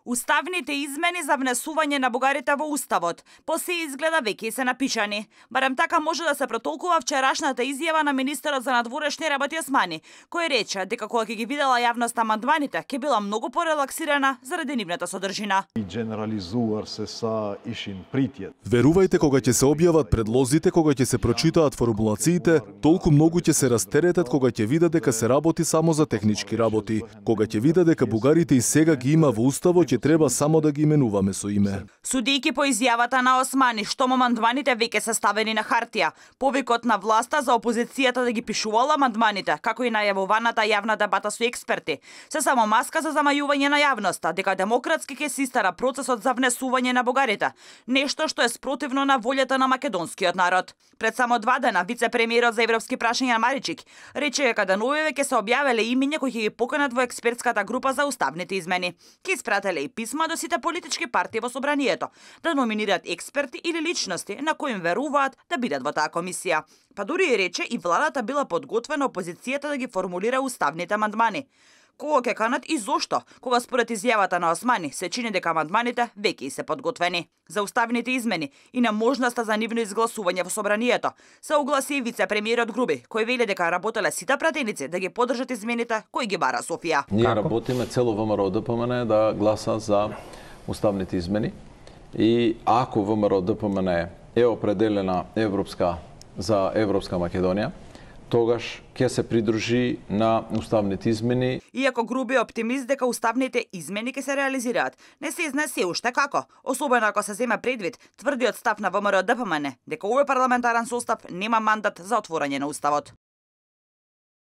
Уставните измени за внесување на бугарите во Уставот по се изгледа веќе се напишани. Барем така може да се протолкува вчерашната изјава на министерот за надворешни работи Османи, кој рече дека кога ќе ги видела јавноста амандманите, ќе била многу порелаксирана заради нивната содржина. Верувајте, кога ќе се објават предлозите, кога ќе се прочитаат формулациите, толку многу ќе се растеретат кога ќе видат дека се работи само за технички работи. Кога ќе видат дека бугарите и сега ги има во Уставот, ќе треба само да ги именуваме со име. Судијќи по изјавата на Османи, што амандманите веќе се ставени на хартија, повикот на власта за опозицијата да ги пишувала амандманите, како и најавуваната јавна дебата со експерти, се само маска за замајување на јавноста дека демократски ќе се истара процесот за внесување на бугарите, нешто што е спротивно на волјата на македонскиот народ. Пред само 2 дена вице-премиерот за европски прашања Маричик рече дека деновиве ќе се објавеле имиња кои ќе ги поканат во експертската група за уставните измени. Ќе испрателе и писма до сите политички партии во собранието да номинираат експерти или личности на кои им веруваат да бидат во таа комисија. Па дури и рече и владата била подготвена опозицијата да ги формулира уставните амандмани. Кого ќе канат и зошто, кога според изјавата на Османи се чини дека амандманите веќе се подготвени. За уставните измени и на можноста за нивно изгласување во собранието се огласи и вице-премиерот Груби, кој вели дека работеле сите пратеници да ги поддржат измените кои ги бара Софија. Ние работиме цело ВМРО ДПМН да гласа за уставните измени и ако ВМРО ДПМН е определена за Европска Македонија, тогаш ќе се придружи на уставните измени. Иако Груби е оптимист дека уставните измени ќе се реализираат, не се изнесе уште како, особено ако се земе предвид тврдиот став на ВМРО ДПМН дека овој парламентарен состав нема мандат за отворање на Уставот.